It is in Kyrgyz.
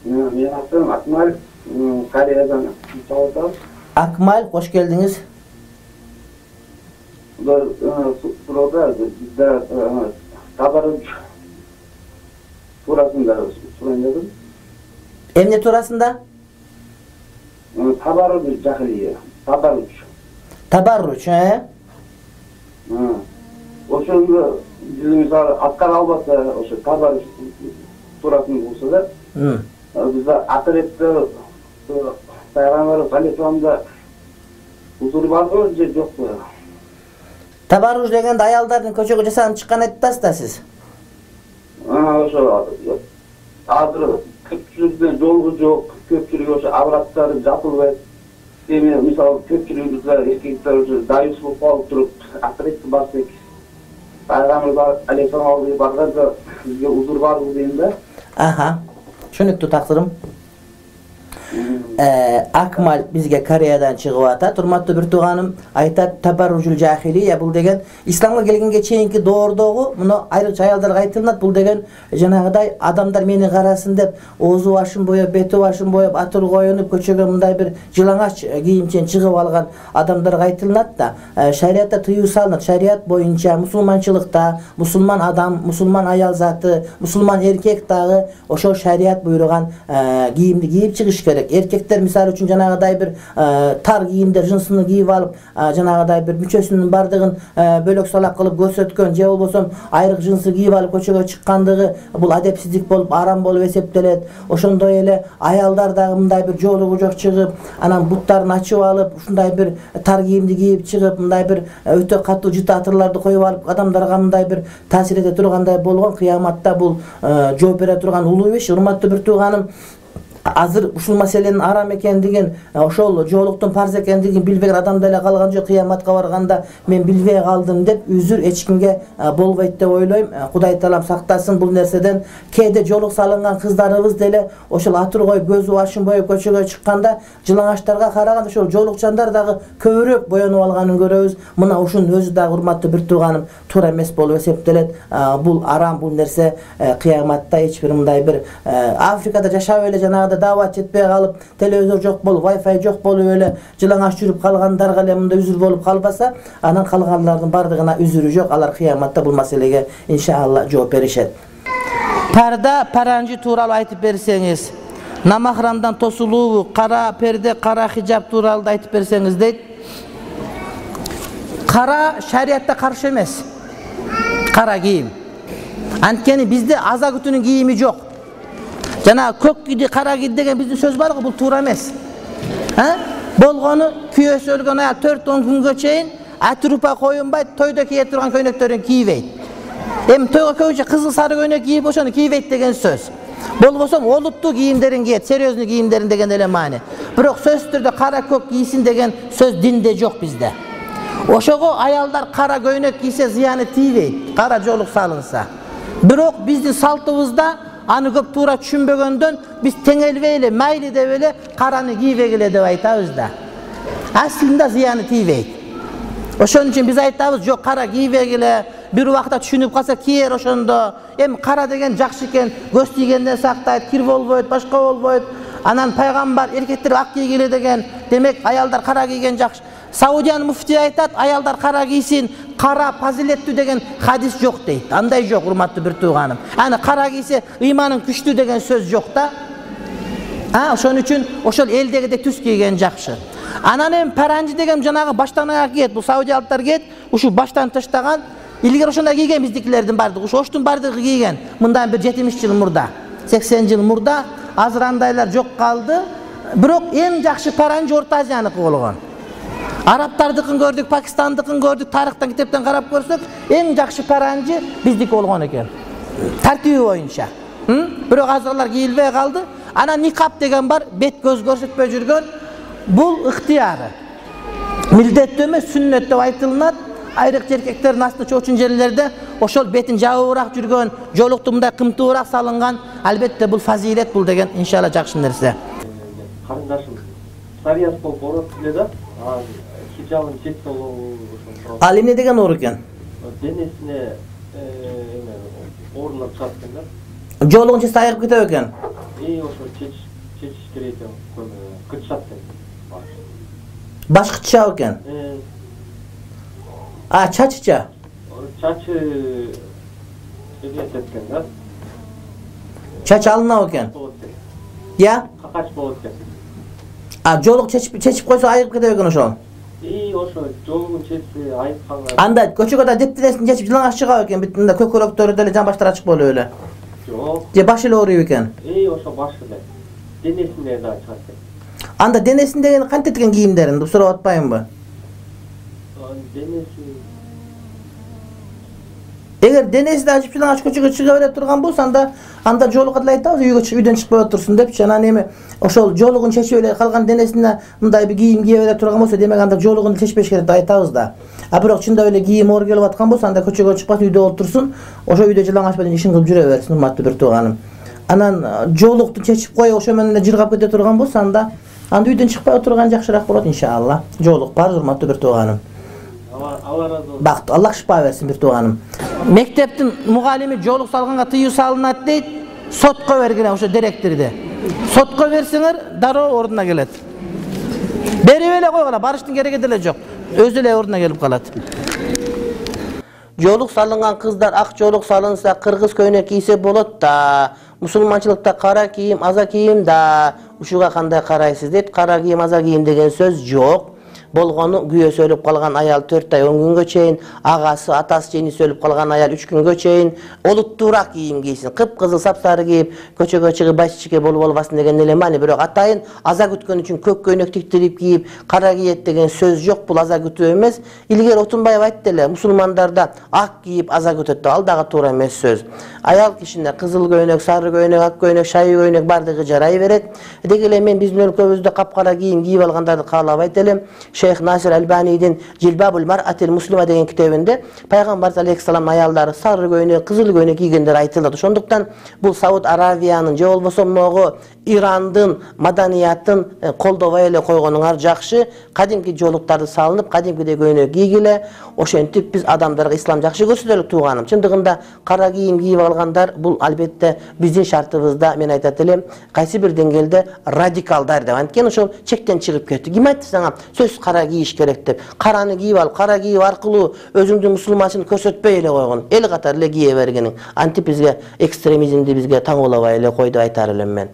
Мен атым Акмал, Кореядан чалып атам. Акмал, кош келдиңиз. Burada bizde tabarruç turasında söyledim. Emne turasında? Tabarruç cahiliye. Tabarruç. Tabarruç, he? O şunda bizim misal atkar albasa o şu tabarruç turasında olsa da bizde atirette Peygamber Aleyhisselam'da huzur var mı? Yok mu? Tabarruj degende ayaldардын көчөгө жасанып чыккан айтасыз да сиз. Ошо азыр көпчүлүктүн жолу жок, көпчүлүк ошо абраттары жапылбайт. Эми мисалы көпчүлүгүбүздө эркектер ошо дайыс болуп калып туруп, атретти басып Пайгамбар Алейхиссалам алдыга барганда бизге узур барбы дейм да. Аха. Түшүнүктүү тактырым. Акмал бизге Кореядан чыгып атат. Урматтуу бир тууганым айтат, табарружул жахилия бул деген исламга келгенге чейинки доордогу муну айрыкча аялдарга айтылат. Бул деген жанагыдай адамдар мени карасын деп оозу башын боеп, бети башын боеп, атыр коюнуп көчөгө мындай бир жылаңач кийимчен чыгып алган адамдарга айтылат да. Шариатта тыюу салынат. Шариат боюнча мусулманчылыкта мусулман адам, мусулман аял заты, мусулман эркек дагы ошо шариат буйруган кийимди кийип чыгыш керек. Эркектер мисалы үчүн жанагыдай бир тар кийимдер жынсыны кийип алып, жанагыдай бир мүчөсүнүн бардыгын бөлөк салак кылып көрсөткөн же болбосо айрык жынсы кийип алып көчөгө чыккандыгы бул адепсиздик болуп, арам болуп эсептелет. Ошондой эле аялдар дагы мындай бир жоолугу жок чыгып, анан буттарын ачып алып, ушундай бир тар кийимди кийип чыгып, мындай бир өтө катуу жыта атырларды коюп алып, адамдарга мындай бир таасир эте тургандай болгон кыяматта бул жооп бере турган улуу иш. Урматтуу бир тууганым, азыр ушул маселенин арам экендигин, ошол жоолуктун парз экендигин билбеген адам деле калган жок. Кыяматка барганда мен билбей калдым деп үзүр эч кимге болбойт деп ойлойм. Кудай таалам сактасын бул нерседен. Кээде жоолук салынган кыздарыбыз деле ошол атыр коюп, көзү башын боюп көчөгө чыкканда жылаңачтарга караганда ошол жоолукчандар дагы көбүрөөк боенуп алганын көрөбүз. Мына ушунун өзү дагы урматтуу бир тууганым туура эмес болуп эсептелет. Бул арам, бул нерсе кыяматта эч бир мындай бир Африкада жашап эле жанагы дават жетпей калып, телевизор жок болуп, Wi-Fi жок болуп эле жылаңач жүрүп калгандарга эле мындай үзүр болуп калбаса, анан калганлардын бардыгына үзүрү жок. Алар кыяматта бул маселеге иншалла жооп беришет. Парда, паранжы тууралуу айтып берсеңиз, намахрамдан тосулуубу, кара перде, кара хижаб тууралуу айтып берсеңиз дейт. Кара шариатта каршы эмес. Кара кийим. Анткени бизде аза күтүүнүн кийими жок. Жана көк кийди, кара кийди деген биздин сөз бар го, бул туура эмес. Болгону күйөөсү өлгөн аял 4-10 күнгө чейин атрупа коюнбайт, тойдо кие турган көйнөктөрүн кийбейт. Эми тойго көбүнчө кызыл сары көйнөк кийип ошону кийбейт деген сөз. Болбосо олуттуу кийимдерин кийет, серьезный кийимдерин деген эле маани. Бирок сөзсүз түрдө кара көк кийсин деген сөз динде жок бизде. Ошого аялдар кара көйнөк кийсе зыяны тийбейт, кара жоолук салынса. Бирок биздин салтыбызда аны көп туура түшүнбөгөндөн биз теңелбей эле, майли деп эле караны кийбегиле деп айтабыз да. Аслында зыяны тийбейт. Ошон үчүн биз айтабыз, жок кара кийбегиле, бир убакта түшүнүп калса кийер ошондо. Эми кара деген жакшы экен, көз тийгенден сактайт, кир болбойт, башка болбойт. Анан пайгамбар эркектер ак кийгиле деген, демек аялдар кара кийген жакшы. Саудиянын муфтии айтат, аялдар кара кийсин, кара фазилеттүү деген хадис жок дейт. Андай жок, урматтуу бир тууганым. Аны кара кийсе ыйманын күчтүү деген сөз жок да. Ошон үчүн ошол элдегидей түс кийген жакшы. Анан эми паранжы деген жанагы баштан аяк кийет. Бул саудиялыктар кийет, ушу баштан таштаган. Илгери ошондой кийген биздикилердин бардыгы, оштун бардыгы кийген. Мындан бир 70 жыл мурда, 80 жыл мурда. Азыр андайлар жок калды. Бирок эң жакшы паранжы Орто Азияныкы болгон. Арабтардыкын көрдүк, Пакистандыкын көрдүк, тарыхтан китептен карап көрсөк, эң жакшы паранжы биздики болгон экен. Тартиби боюнча. Бирок азырлар кийилбей калды. Анан никап деген бар, бет көз көрсөтпөй жүргөн. Бул ыктыяры. Милдеттүү эмес, сүннөт деп айтылат. Айрыкча эркектердин асты чоочун жерлерде ошол бетин жабыбыраак жүргөн, жоолукту мындай кымтыбыраак салынган. Албетте бул фазилет, бул деген иншалла жакшы нерсе. Карындашым, шарият болуп орот эле да. Хижабын чет болуу ошол. Ал эмне деген оор экен? Денесине оорулар чыгат экен да. Жоолугун чечсе айыгып кетет экен. Ошол чечиш чечиш керек экен. Кытчат экен. Башкыча экен. Чачыча. Чачы экен да. Чач алынабы экен. Я? Какач болот экен. Жолук чечип койсо айыгып кетет экен ошол. Ошо жолун чечсе айыкканга. Анда көчөгө да дептенесин чечип жылаңаш чыгабы экен, бүт мында көкөрөктөрү деле жамбаштары ачык болуп эле. Жок. Же башы эле ооруйбу экен? Ошо башы эле. Денесинде да чыгат экен. Анда денесиндеги кантип эткен кийимдерин деп сурап атпаймынбы? Денеси. Эгер денеси да ачып жылаңач көчөгө чыга бере турган болсо анда жолугка деле айтабыз үйдөн чыкпай отурсун депчи. Анан эми ошол жолугун чечип эле калган денесине мындай бир кийим кие бере турган болсо, демек анда жолугун чечпеш керек деп айтабыз да. Бирок чындап эле кийим оор келип аткан болсо, анда көчөгө чыкпасын, үйдө отурсун. Ошо үйдө жылаңач менен ишин кылып жүрө берсин, урматтуу бир тууганым. Анан жолукту чечип коюп ошо менен эле жыргап кете турган болсо, анда үйдөн чыкпай отурган жакшыраак болот иншалла. Жолук бар, урматтуу бир тууганым. Бакыт, Аллах шифа берсин бир тууганым. Мектептин мугалими жолук салганга тыюу салынат дейт. Сотко бергиле ошо директорду. Сотко берсеңер, дароо ордуна келет. Берип эле койгула, барыштын кереги деле жок. Өзү эле ордуна келип калат. Жолук салынган кыздар ак жолук салынса, кыргыз көйнөк кийсе болот да. Мусулманчылыкта кара кийим, аза кийим да. Ушуга кандай карайсыз дейт. Кара кийим, аза кийим деген сөз жок. Болгону күйөөсү өлүп калган аял 4 ай 10 күнгө чейин, агасы, атасы, жениси өлүп калган аял 3 күнгө чейин олуттуураак кийим кийсин. Кыпкызыл сапсары кийип, көчөгө чыгып байчичке болуп албасын деген эле маани. Бирок атайын аза күткөн үчүн көк көйнөк тиктирип кийип, кара кийет деген сөз жок. Бул аза күтүү эмес. Илгери Отунбаев айтты эле, мусулмандарда ак кийип аза күтөт деп, ал дагы туура эмес сөз. Аял кишине кызыл көйнөк, сары көйнөк, ак көйнөк, шайы көйнөк бардыгы жарай берет. Деги эле мен биздин өлкөбүздө капкара кийим кийип алгандарды каалабайт элем. Шейх Насир Албанидин Жилбабул Мар'атил Муслима деген китебинде пайгамбар алейхиссалам аялдары сары көйнөк, кызыл көйнөк кийгендер айтылат. Ошондуктан бул Сауд Аравиянын же болбосо могу Ирандын маданиятын колдобой эле койгонуңар жакшы. Кадимки жолуктарды салынып, кадимкидей көйнөк кийгиле. Ошентип биз адамдарга ислам жакшы көрсөтөлүк тууганым. Чындыгында кара кийим кийип алгандар бул албетте биздин шартыбызда, мен айтат элем, кайсы бир деңгээлде радикалдар деп. Анткени ошол чектен чыгып кетти. Ким айтты сага сөз кара кийиш керек деп? Караны кийип алып, кара кийип аркылуу өзүңдүн мусулманчылык көрсөтпөй эле койгон. Эл катары эле кие бергениң. Антип бизге экстремизмди бизге таңуулабай эле кой деп айтар элем мен.